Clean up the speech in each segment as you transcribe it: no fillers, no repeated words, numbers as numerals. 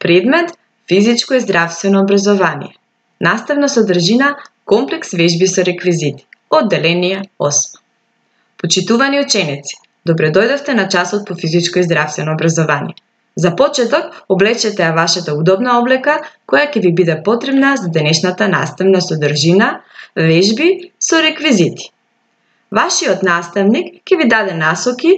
Предмет физичко и здравствено образование. Наставна содржина комплекс вежби со реквизити. Одделение 8. Почитувани ученици, добре дојдовте на часот по физичко и здравствено образование. За почеток, облечете ја вашата удобна облека, која ќе ви биде потребна за денешната наставна содржина, вежби со реквизити. Вашиот наставник ќе ви даде насоки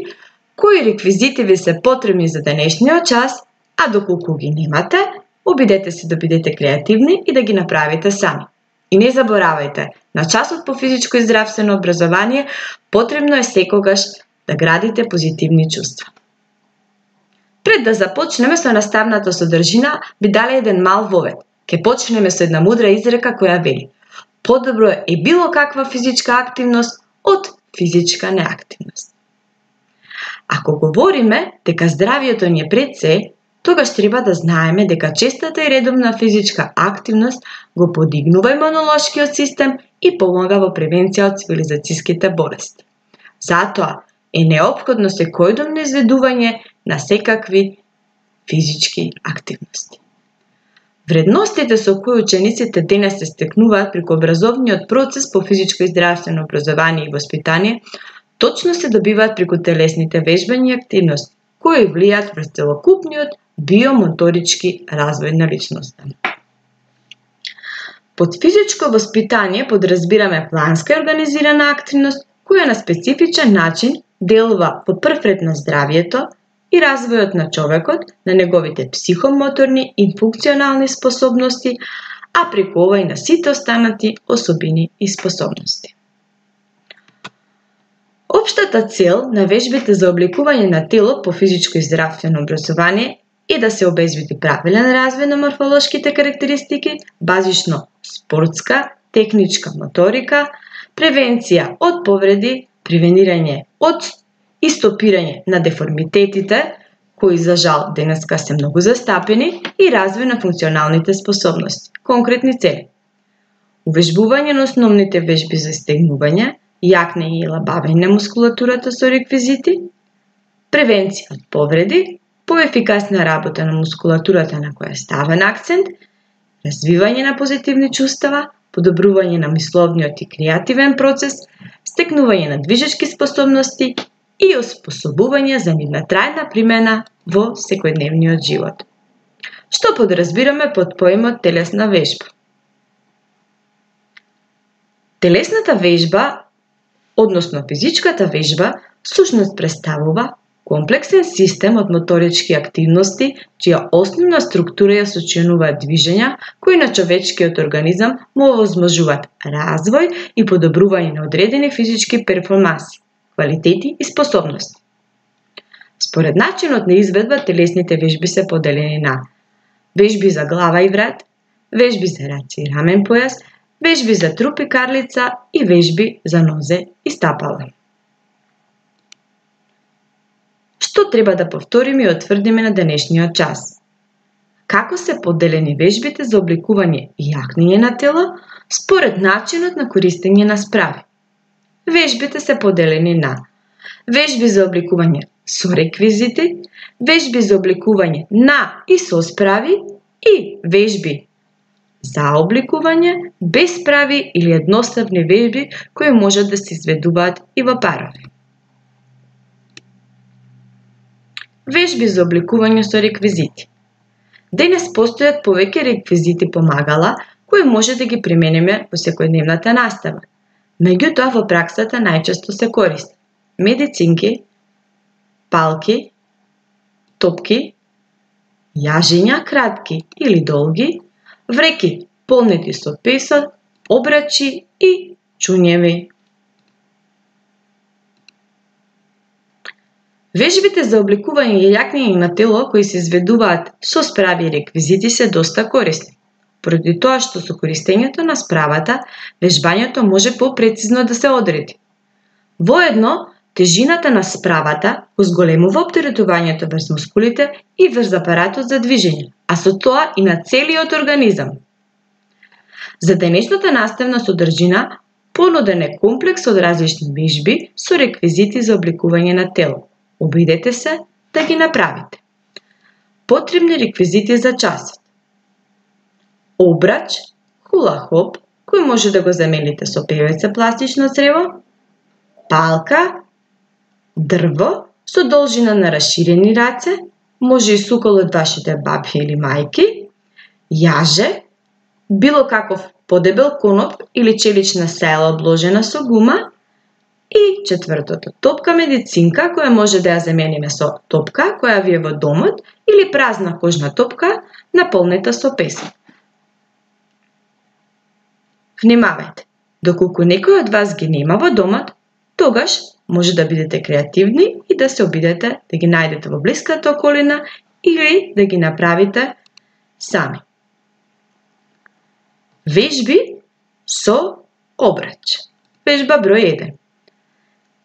кои реквизити ви се потребни за денешниот час, а доколку ги немате, обидете се да бидете креативни и да ги направите сами. И не заборавајте, на часот по физичко и здравствено образование потребно е секогаш да градите позитивни чувства. Пред да започнеме со наставната содржина, би дали еден мал вовед. Ке почнеме со една мудра изрека која вели: подобро е било каква физичка активност од физичка неактивност. Ако говориме дека здравието ни е пред се, тогаш треба да знаеме дека честата и редовна физичка активност го подигнува имунолошкиот систем и помага во превенција од цивилизацијските болести. Затоа е неопходно секојдневно изведување на секакви физички активности. Вредностите со кои учениците денес се стекнуваат преку образовниот процес по физичко и здравствено образование и воспитание точно се добиваат преку телесните вежбања и активности, кои влијаат врз целокупниот биомоторички развој на личноста. Под физичко воспитание подразбираме планска и организирана активност која на специфичен начин делува во прв ред на здравието и развојот на човекот, на неговите психомоторни и функционални способности, а преку ова и на сите останати особини и способности. Општата цел на вежбите за обликување на тело по физичко и здравствено образование е да се обезбеди правилен развој на морфолошките карактеристики, базично спортска, техничка моторика, превенција од повреди, превенирање од и стопирање на деформитетите, кои за жал денеска се многу застапени, и развој на функционалните способности, конкретни цели. Увежбување на основните вежби за стегнување, јакнење и лабавење на мускулатурата со реквизити, превенција од повреди, поефикасна работа на мускулатурата на која е ставен акцент, развивање на позитивни чувства, подобрување на мисловниот и креативен процес, стекнување на движечки способности и оспособување за нивна трајна примена во секојдневниот живот. Што подразбираме под поимот телесна вежба? Телесната вежба, односно физичката вежба, всушност представува комплексен систем од моторички активности, чија основна структура ја сочинуваат движења кои на човечкиот организам му овозможуваат развој и подобрување на одредени физички перформанси, квалитети и способности. Според начинот на изведба, телесните вежби се поделени на вежби за глава и врат, вежби за раце и рамен појас, вежби за труп и карлица и вежби за нозе и стапала. Што треба да повториме и утврдиме на денешниот час? Како се поделени вежбите за обликување и јакнење на тело според начинот на користење на справи? Вежбите се поделени на вежби за обликување со реквизити, вежби за обликување на и со справи и вежби за обликување без справи или едноставни вежби кои можат да се изведуваат и во парови. Вежби за обликување со реквизити. Денес постојат повеќе реквизити помагала кои може да ги примениме во секојдневната настава. Меѓутоа во праксата најчесто се користат медицинки, палки, топки, јажиња кратки или долги, вреки полнети со песок, обрачи и чуњеви. Вежбите за обликување и јакнење на тело кои се изведуваат со справи и реквизити се доста корисни. Поради тоа што со користењето на справата, вежбањето може попрецизно да се одреди. Воедно, тежината на справата го зголемува оптеретувањето врз мускулите и врз апаратот за движење, а со тоа и на целиот организам. За денешната наставна содржина понуден е комплекс од различни вежби со реквизити за обликување на тело. Обидете се да ги направите. Потребни реквизити за часот. Обрач, хула-хоп, кој може да го замените со певеце пластично црево, палка, дрво со должина на расширени раце, може и сукол од вашите бабје или мајки, јаже, било каков подебел коноп или челична села обложена со гума и четвртото, топка медицинка која може да ја замениме со топка која ви е во домот или празна кожна топка наполнета со песок. Внимавајте, доколку некој од вас ги нема во домот, тогаш може да бидете креативни и да се обидете да ги најдете во блиската околина или да ги направите сами. Вежби со обрач. Вежба број 1.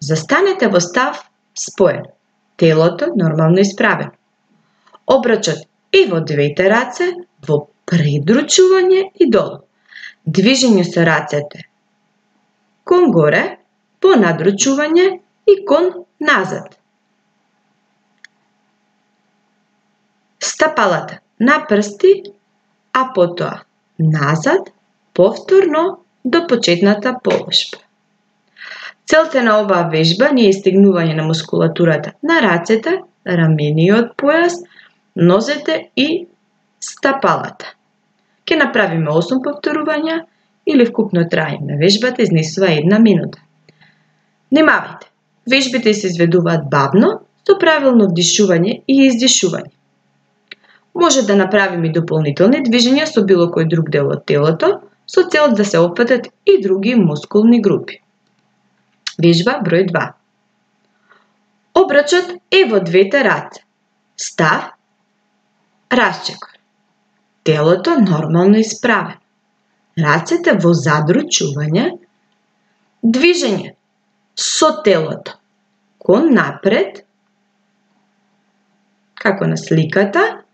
Застанете во став споен, телото нормално исправено. Обрачот е во двете раце, во предручување и долу. Движење со рацете кон горе, по надручување и кон назад. Стапалата на прсти, а потоа назад, повторно до почетната положба. Целта на оваа вежба не е стегнување на мускулатурата на рацете, рамениот појас, нозете и стапалата. Ке направиме 8 повторувања или вкупно траење на вежбата изнесува 1 минута. Внимавајте, вежбите се изведуваат бавно, со правилно вдишување и издишување. Може да направиме и дополнителни движења со било кој друг дел од телото, со цел да се опфатат и други мускулни групи. Вежба број 2. Обрачот е во двете раце. Став, расчекор. Телото нормално исправено. Рацете во задручување. Движење со телото кон напред, како на сликата,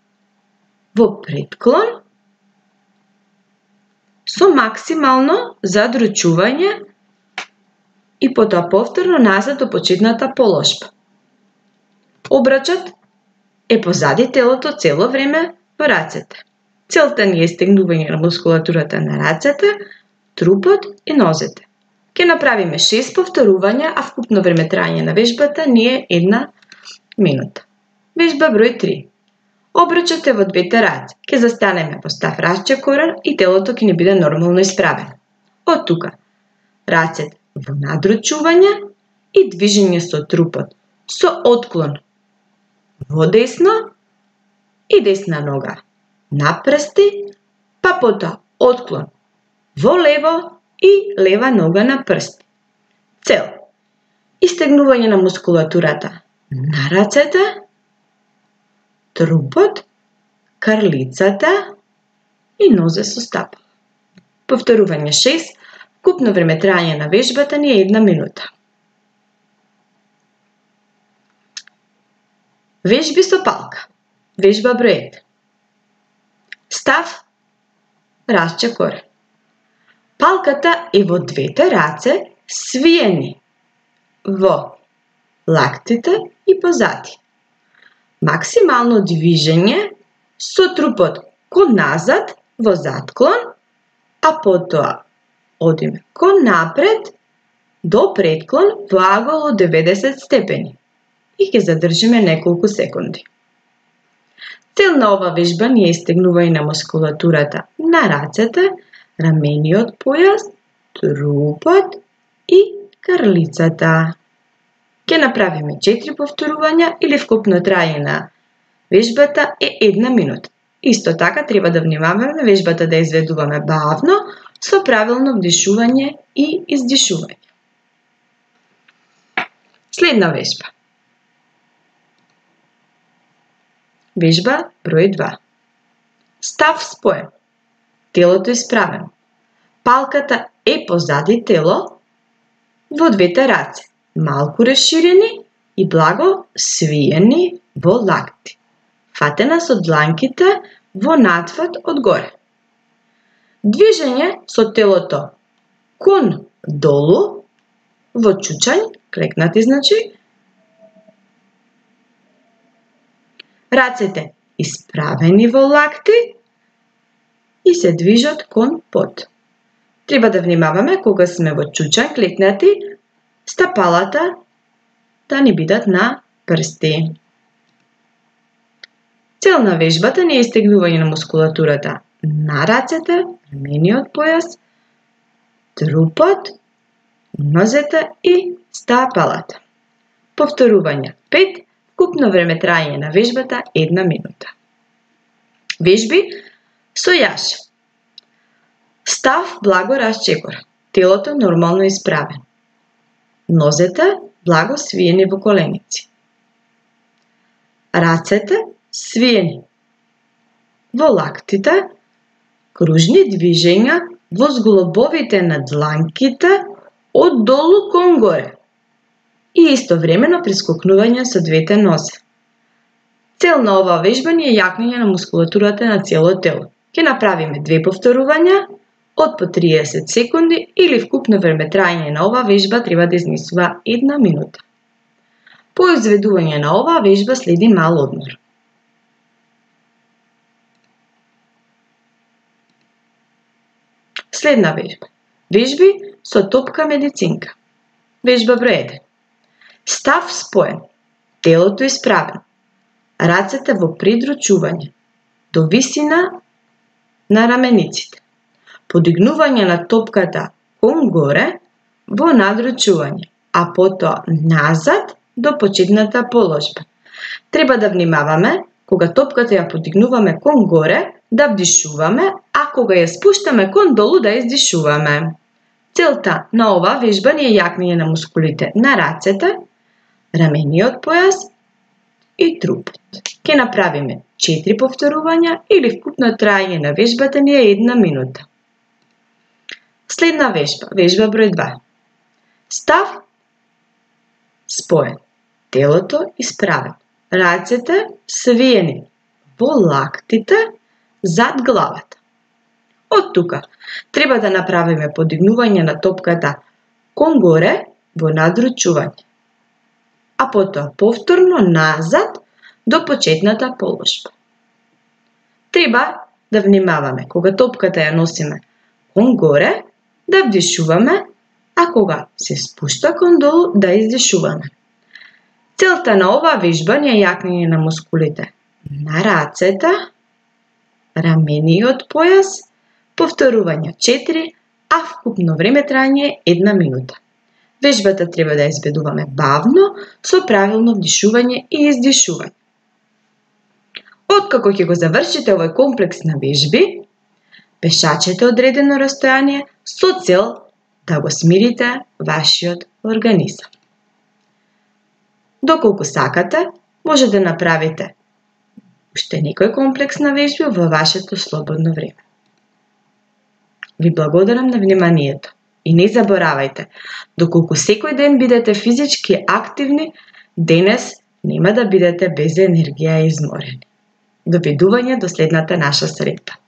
во предклон, со максимално задручување и потоа повторно назад до почетната положба. Обрачот е позади телото цело време во рацете. Целта ни е стегнување на мускулатурата на рацете, трупот и нозете. Ке направиме 6 повторувања, а вкупно време траење на вежбата ни е 1 минута. Вежба број 3. Обрачот е во двете раце. Ке застанеме во став расчекорен и телото ќе ни биде нормално исправено. Од тука, рацете во надручување и движење со трупот, со отклон во десно и десна нога на прсти, па потоа отклон во лево и лева нога на прсти. Цел: истегнување на мускулатурата на рацете, трупот, крлицата и нозе со стапала. Повторување 6, вкупно време траење на вежбата ни е 1 минута. Вежби со палка. Вежба број 1. Став, расчекор. Палката е во двете раце, свиени во лактите и позади. Максимално движење со трупот кон назад во затклон, а потоа одиме кон напред до предклон во агол од 90 степени и ќе задржиме неколку секунди. Цел на ова вежба ни е истегнување на мускулатурата на рацете, рамениот појас, трупот и крлицата. Ке направиме 4 повторувања или вкупно траење на вежбата е 1 минута. Исто така треба да внимаваме вежбата да изведуваме бавно, со правилно вдишување и издишување. Следна вежба. Вежба број 2. Став споен. Телото исправено. Палката е позади тело, во двете раце, малку расширени и благо свиени во лакти. Фатена со дланките во надфат од горе. Движење со телото кон долу, во чучањ, клекнати значи. Рацете исправени во лакти и се движат кон под. Треба да внимаваме кога сме во чучан клекнати, стапалата да ни бидат на прсти. Цел на вежбата не е стегнување на мускулатурата на рацете, рамениот појас, трупот, нозете и стапалата. Повторување 5, вкупно време траење на вежбата 1 минута. Вежби со јаш. Став благо расчекор, телото нормално исправено. Нозете благо свиени во коленици. Рацете свиени. Во лактите кружни движења во зглобовите на дланките од долу кон горе и истовремено прескокнување со двете нозе. Цел на оваа вежба ни е јакнење на мускулатурата на целото тело. Ќе направиме 2 повторувања од по 30 секунди или вкупно време траење на оваа вежба треба да изнесува 1 минута. По изведување на оваа вежба следи мал одмор. Следна вежба. Вежби со топка медицинка. Вежба број 1. Став споен, телото исправено, рацете во придручување, до висина на рамениците. Подигнување на топката кон горе во надручување, а потоа назад до почетната положба. Треба да внимаваме кога топката ја подигнуваме кон горе да вдишуваме, а кога ја спуштаме кон долу да издишуваме. Целта на оваа вежба ни е јакнење на мускулите на рацете, рамениот појас и трупот. Ќе направиме 4 повторувања или вкупно траење на вежбата ни е 1 минута. Следна вежба, вежба број 2. Став споен, телото исправено, рацете свиени во лактите зад главата. Од тука треба да направиме подигнување на топката кон горе во надручување, а потоа повторно назад до почетната положба. Треба да внимаваме кога топката ја носиме кон горе да вдишуваме, а кога се спушта кон долу да издишуваме. Целта на оваа вежба ни е јакнење на мускулите на рацете, рамениот појас, повторување 4, а вкупно време траење 1 минута. Вежбата треба да изведуваме бавно, со правилно вдишување и издишување. Откако ќе го завршите овој комплекс на вежби, пешачете одредено растојание со цел да го смирите вашиот организам. Доколку сакате, може да направите уште некој комплекс на вежби во вашето слободно време. Ви благодарам на вниманието и не заборавајте, доколку секој ден бидете физички активни, денес нема да бидете без енергија и изморени. Довидување до следната наша средба.